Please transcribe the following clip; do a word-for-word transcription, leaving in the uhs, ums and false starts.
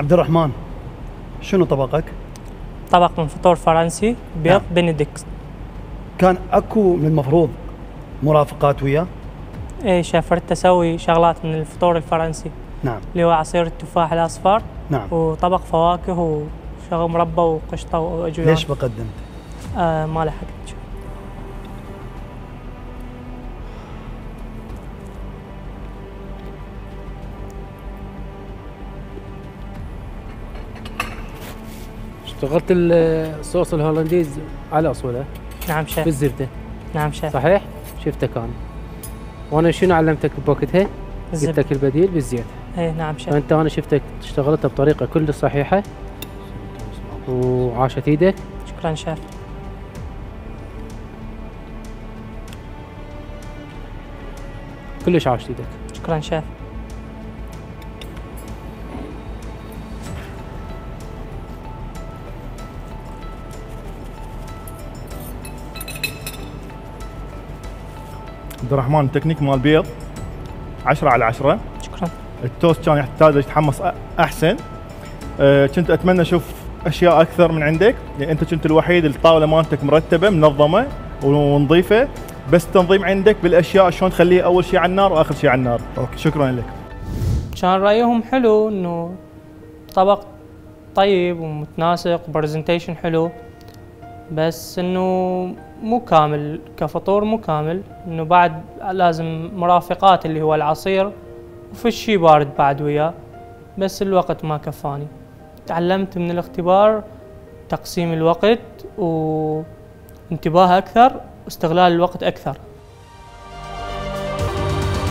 عبد الرحمن، شنو طبقك؟ طبق من فطور فرنسي بيض نعم. بنديكت. كان اكو من المفروض مرافقات وياه؟ اي شيف، ردت اسوي شغلات من الفطور الفرنسي. نعم. اللي هو عصير التفاح الاصفر. نعم. وطبق فواكه وشغل مربى وقشطه واجوان. ليش ما قدمت؟ آه ما لحقت. اشتغلت الصوص الهولنديز على اصوله. نعم شيف. بالزبده. نعم شيف. صحيح؟ شفتك انا. وانا شنو علمتك بوقتها؟ قلت لك البديل بالزيت. ايه نعم شيف. فانت انا شفتك اشتغلتها بطريقه كل صحيحه وعاشت ايدك. شكرا شيف. كلش عاشت ايدك. شكرا شيف. عبد الرحمن، التكنيك مال البيض عشرة على عشرة. شكرا. التوست كان يحتاج يتحمص احسن. أه كنت اتمنى اشوف اشياء اكثر من عندك، يعني انت كنت الوحيد الطاوله مالتك مرتبه منظمه ونظيفه، بس تنظيم عندك بالاشياء شلون تخليها اول شيء على النار واخر شيء على النار. اوكي شكرا لك. كان رايهم حلو، انه طبق طيب ومتناسق وبرزنتيشن حلو، بس انه مو كامل كفطور، مو كامل، انه بعد لازم مرافقات اللي هو العصير وفي شي بارد بعد وياه، بس الوقت ما كفاني. تعلمت من الاختبار تقسيم الوقت وانتباه اكثر واستغلال الوقت اكثر.